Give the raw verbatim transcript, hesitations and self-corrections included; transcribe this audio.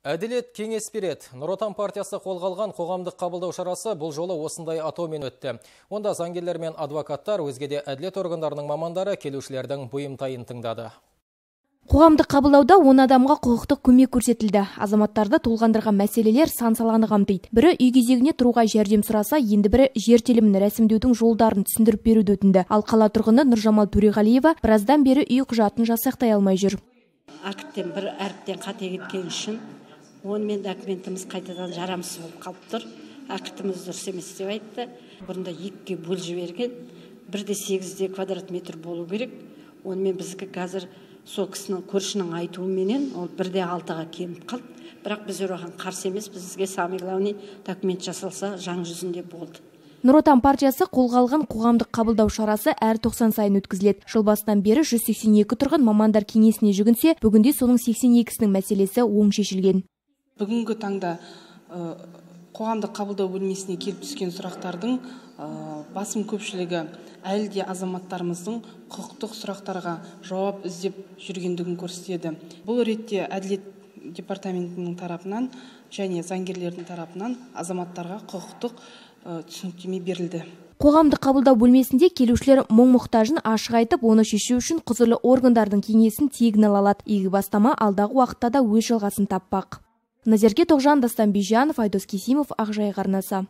Әділет кеңес береді. Нұр Отан партиясы қолға алған қоғамдық қабылдау шарасы бұл жолы осындай атаумен өтті. Онда заңгерлер мен адвокаттар, өзге де әділет органдарының мамандары келушілердің бұйымтайын тыңдады. Қоғамдық қабылдауда он адамға құқықтық көмек көрсетілді. Азаматтарды толғандырған мәселелер сан саланы қамтиды. Бірі үй кезегіне тұруға жәрдем сұраса, енді бірі жер телімін рәсімдеудің жолдарын түсіндіріп беруді өтінді. Ал қала тұрғыны Нұржамал Төреғалиева біраздан бері үй құжатын жасақтай алмай жүр. Акттен бір әріптен қате кеткен үшін онымен документіміз қайтадан жарамсыз болып қалып тұр. Актіміз дұрыс емес деп айтты. Бұрында екіге бөл жіберген, бірде сегізде квадрат метр болу керек. Онымен бізге қазір сол кісінің көршінің айтуыменен ол бірде алтыға кеміп қалды. Бірақ біз оған қарсы емес, бізге самый главный документ жасалса заң жүзінде болды. Нұр Отан партиясы қолға алған қоғамдық қабылдау шарасы әр тоқсан сайын өткізіледі. Жыл басынан бері жүз сексен екі тұрғын мамандар кеңесіне жүгінсе, бүгінде соның сексен екісінің мәселесі оң шешілген. Бүгінгі таңда қоғамдық қабылдау бөлмесіне келіп түскен сұрақтардың басым көпшілігі әлі де азаматтарымыздың құқықтық сұрақтарға жауап іздеп жүргендігін көрсетеді. Бұл ретте әділет департаментінің тарапынан және заңгерлердің тарапынан азаматтарға құқықтық түсініктеме берілді. Қоғамдық қабылдау бөлмесінде келушілер мұң-мұқтажын ашық айтып, оны шешу үшін құзырлы органдардың кеңесін тегін ала алады. Игі бастама алдағы уақытта да өз жалғасын таппақ. Назерке Тоғжан, Дастан Бижанов, Айдос Кесимов, Ақжайық арнасы.